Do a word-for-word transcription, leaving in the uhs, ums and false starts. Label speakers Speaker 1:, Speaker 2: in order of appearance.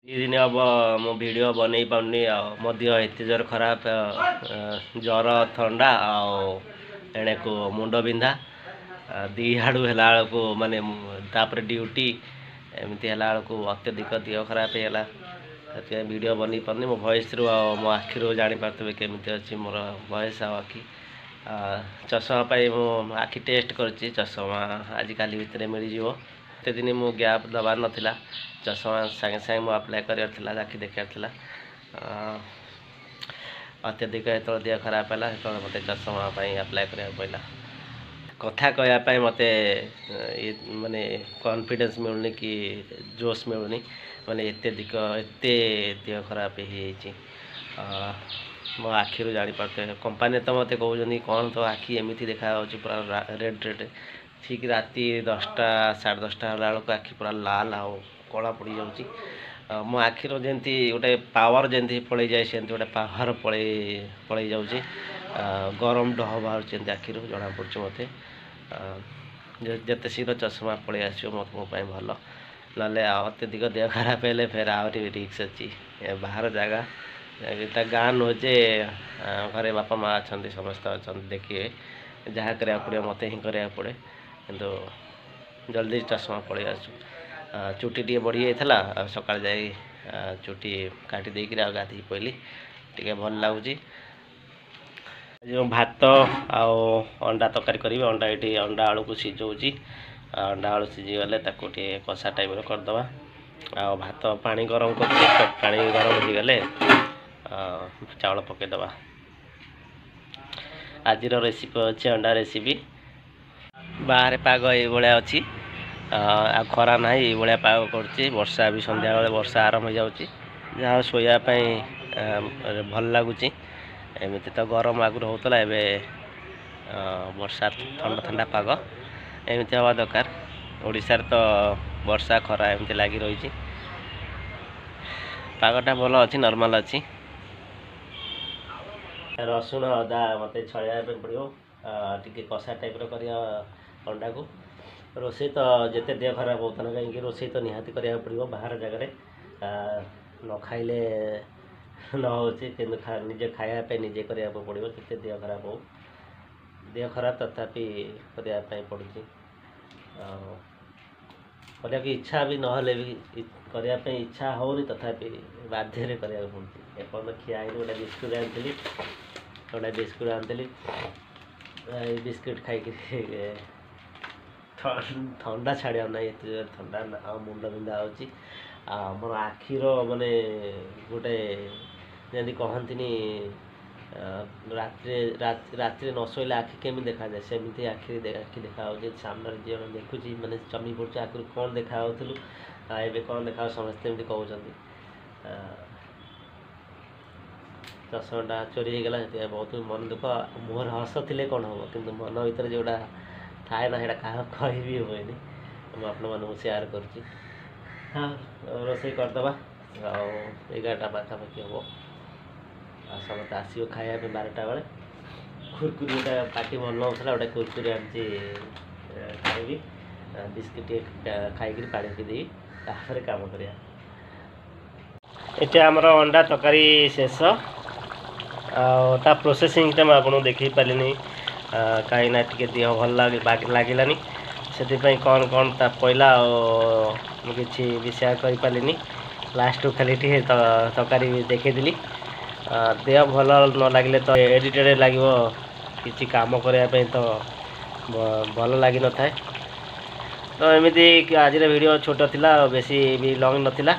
Speaker 1: ଦୁଇ ଦିନ ହେବ ମୁଁ ଭିଡ଼ିଓ ବନେଇ ପାରୁନି ଆଉ ମୋ ଦେହ ଏତେ ଜୋର ଖରାପ ଜ୍ୱର ଥଣ୍ଡା ଆଉ ଏଣେକୁ ମୁଣ୍ଡ ବିନ୍ଧା ଦୁଇ ଆଡ଼ୁ ହେଲା ବେଳକୁ ମାନେ ତାପରେ ଡ୍ୟୁଟି ଏମିତି ହେଲା ବେଳକୁ ଅତ୍ୟଧିକ ଦେହ ଖରାପ ହେଇଗଲା ସେଥିପାଇଁ ଭିଡ଼ିଓ ବନେଇ ପାରୁନି ମୋ ଭଏସ୍ରୁ ଆଉ ମୋ ଆଖିରୁ ଜାଣିପାରୁଥିବେ କେମିତି ଅଛି ମୋର ଭଏସ୍ ଆଉ ଆଖି ଚଷମା ପାଇଁ ମୁଁ ଆଖି ଟେଷ୍ଟ କରିଛି ଚଷମା ଆଜିକାଲି ଭିତରେ ମିଳିଯିବ ଏତେ ଦିନ ମୁଁ ଗ୍ୟାପ୍ ଦେବାର ନଥିଲା ଚଷମା ସାଙ୍ଗେ ସାଙ୍ଗେ ମୁଁ ଆପ୍ଲାଏ କରିବାର ଥିଲା ଆଖି ଦେଖିବାର ଥିଲା ଅତ୍ୟଧିକ ଯେତେବେଳେ ଦେହ ଖରାପ ହେଲା ସେତେବେଳେ ମୋତେ ଚଷମା ପାଇଁ ଆପ୍ଲାଏ କରିବାକୁ ପଡ଼ିଲା କଥା କହିବା ପାଇଁ ମୋତେ ମାନେ କନଫିଡେନ୍ସ ମିଳୁନି କି ଜୋସ୍ ମିଳୁନି ମାନେ ଏତେ ଅଧିକ ଏତେ ଦେହ ଖରାପ ହେଇଯାଇଛି ମୋ ଆଖିରୁ ଜାଣିପାରୁଥିବେ କମ୍ପାନୀ ତ ମୋତେ କହୁଛନ୍ତି କ'ଣ ତୋ ଆଖି ଏମିତି ଦେଖାଯାଉଛି ପୁରା ରେଡ଼୍ ରେଡ଼୍ ଠିକ୍ ରାତି ଦଶଟା ସାଢ଼େ ଦଶଟା ହେଲା ବେଳକୁ ଆଖି ପୁରା ଲାଲ ଆଉ କଳା ପଡ଼ିଯାଉଛି ମୋ ଆଖିର ଯେମିତି ଗୋଟେ ପାୱାର ଯେମିତି ପଳେଇଯାଏ ସେମିତି ଗୋଟେ ପାୱାର ପଳେଇ ପଳେଇ ଯାଉଛି ଗରମ ଡହ ବାହାରୁଛି ଏମିତି ଆଖିରୁ ଜଣାପଡ଼ୁଛି ମୋତେ ଯେତେ ଶୀଘ୍ର ଚଷମା ପଳେଇ ଆସିବ ମୋ ମୋ ପାଇଁ ଭଲ ନହେଲେ ଅତ୍ୟଧିକ ଦେହ ଖରାପ ହେଲେ ଫେର ଆହୁରି ରିସ୍କ ଅଛି ବାହାର ଜାଗା ଏଇଟା ଗାଁ ନୁହେଁ ଯେ ଘରେ ବାପା ମା' ଅଛନ୍ତି ସମସ୍ତେ ଅଛନ୍ତି ଦେଖିବେ ଯାହା କରିବାକୁ ପଡ଼ିବ ମୋତେ ହିଁ କରିବାକୁ ପଡ଼େ କିନ୍ତୁ ଜଲ୍ଦି ଚଷମା ପଳେଇ ଆସୁ ଚୁଟି ଟିକେ ବଢ଼ିଯାଇଥିଲା ଆଉ ସକାଳେ ଯାଇ ଚୁଟି କାଟି ଦେଇକିରି ଆଉ ଗାଧୋଇ ପଡ଼ିଲି ଟିକେ ଭଲ ଲାଗୁଛି ଆଜି ମୁଁ ଭାତ ଆଉ ଅଣ୍ଡା ତରକାରୀ କରିବି ଅଣ୍ଡା ଏଠି ଅଣ୍ଡା ଆଳୁକୁ ସିଝଉଛି ଅଣ୍ଡା ଆଳୁ ସିଝିଗଲେ ତାକୁ ଟିକେ କଷା ଟାଇପ୍ର କରିଦେବା ଆଉ ଭାତ ପାଣି ଗରମ କରୁଛି ପାଣି ଗରମ ହେଇଗଲେ ଚାଉଳ ପକାଇଦେବା ଆଜିର ରେସିପି ଅଛି ଅଣ୍ଡା ରେସିପି ବାହାରେ ପାଗ ଏଇଭଳିଆ ଅଛି ଆଉ ଖରା ନାହିଁ ଏଇଭଳିଆ ପାଗ କରୁଛି ବର୍ଷା ବି ସନ୍ଧ୍ୟାବେଳେ ବର୍ଷା ଆରମ୍ଭ ହେଇଯାଉଛି ଯାହା ଶୋଇବା ପାଇଁ ଭଲ ଲାଗୁଛି ଏମିତି ତ ଗରମ ଆଗରୁ ହେଉଥିଲା ଏବେ ବର୍ଷା ଥଣ୍ଡା ଥଣ୍ଡା ପାଗ ଏମିତି ହେବା ଦରକାର ଓଡ଼ିଶାରେ ତ ବର୍ଷା ଖରା ଏମିତି ଲାଗି ରହିଛି ପାଗଟା ଭଲ ଅଛି ନର୍ମାଲ୍ ଅଛି ରସୁଣ ଅଦା ମୋତେ ଛଡ଼େଇବା ପାଇଁ ପଡ଼ିବ ଟିକେ କଷା ଟାଇପ୍ର କରିବା ଅଣ୍ଡାକୁ ରୋଷେଇ ତ ଯେତେ ଦେହ ଖରାପ ହେଉଥିଲା ନା କାହିଁକି ରୋଷେଇ ତ ନିହାତି କରିବାକୁ ପଡ଼ିବ ବାହାର ଜାଗାରେ ନ ଖାଇଲେ ନ ହେଉଛି କିନ୍ତୁ ନିଜେ ଖାଇବା ପାଇଁ ନିଜେ କରିବାକୁ ପଡ଼ିବ ଯେତେ ଦେହ ଖରାପ ହେଉ ଦେହ ଖରାପ ତଥାପି କରିବା ପାଇଁ ପଡ଼ୁଛି ଆଉ କରିବାକୁ ଇଚ୍ଛା ବି ନହେଲେ ବି କରିବା ପାଇଁ ଇଚ୍ଛା ହେଉନି ତଥାପି ବାଧ୍ୟରେ କରିବାକୁ ପଡ଼ୁଛି ଏପର୍ଯ୍ୟନ୍ତ ଖିଆ ହେଇନି ଗୋଟେ ବିସ୍କୁଟ୍ ଆଣିଥିଲି ଗୋଟେ ବିସ୍କୁଟ୍ ଆଣିଥିଲି ଏଇ ବିସ୍କୁଟ୍ ଖାଇକି ଥଣ୍ଡା ଛାଡ଼ିବାର ନାହିଁ ଏତେ ଜୋରେ ଥଣ୍ଡା ଆଉ ମୁଣ୍ଡ ବିନ୍ଧା ହେଉଛି ଆଉ ମୋର ଆଖିର ମାନେ ଗୋଟେ ଯେମିତି କହନ୍ତିନି ରାତିରେ ରାତିରେ ନ ଶୋଇଲେ ଆଖି କେମିତି ଦେଖାଯାଏ ସେମିତି ଆଖି ଆଖି ଦେଖାଯାଉଛି ସାମ୍ନାରେ ଯିଏ ଜଣେ ଦେଖୁଛି ମାନେ ଚମକି ପଡ଼ୁଛି ଆଗରୁ କ'ଣ ଦେଖାଯାଉଥିଲୁ ଏବେ କ'ଣ ଦେଖାଯାଉଛି ସମସ୍ତେ ଏମିତି କହୁଛନ୍ତି ଚଷମାଟା ଚୋରି ହେଇଗଲା ସେଥିପାଇଁ ବହୁତ ମନ ଦୁଃଖ ମୁହଁରେ ହସ ଥିଲେ କ'ଣ ହେବ କିନ୍ତୁ ମନ ଭିତରେ ଯେଉଁଟା ଥାଏ ନା ସେଇଟା କାହାକୁ କହିବି ହୁଏନି ମୁଁ ଆପଣମାନଙ୍କୁ ସେୟାର କରୁଛି ହଁ ରୋଷେଇ କରିଦେବା ଆଉ ଏଗାରଟା ପାଖାପାଖି ହେବ ଆଉ ସମସ୍ତେ ଆସିବ ଖାଇବା ପାଇଁ ବାରଟା ବେଳେ କୁରକୁରି ଗୋଟେ ପାଟି ଭଲ ନହେଉଥିଲା ଗୋଟେ କୁରକୁରି ଆଣିଛି ଖାଇବି ବିସ୍କିଟ୍ ଟିକେ ଖାଇକିରି ପାଣି ପିଇଦେବି ତାପରେ କାମ କରିବା ଏଠି ଆମର ଅଣ୍ଡା ତରକାରୀ ଶେଷ ଆଉ ତା ପ୍ରୋସେସିଂଟା ମୁଁ ଆପଣଙ୍କୁ ଦେଖେଇ ପାରିଲିନି କାହିଁକିନା ଟିକେ ଦେହ ଭଲ ଲାଗିଲାନି ସେଥିପାଇଁ କ'ଣ କ'ଣ ତା ପଇଲା ଆଉ ମୁଁ କିଛି ବି ସେୟାର କରିପାରିଲିନି ଲାଷ୍ଟକୁ ଖାଲି ଟିକେ ତରକାରୀ ଦେଖେଇଦେଲି ଦେହ ଭଲ ନ ଲାଗିଲେ ତ ଏରିଟେଡ଼୍ ଲାଗିବ କିଛି କାମ କରିବା ପାଇଁ ତ ଭଲ ଲାଗିନଥାଏ ତ ଏମିତି ଆଜିର ଭିଡ଼ିଓ ଛୋଟ ଥିଲା ଆଉ ବେଶୀ ବି ଲଙ୍ଗ୍ ନଥିଲା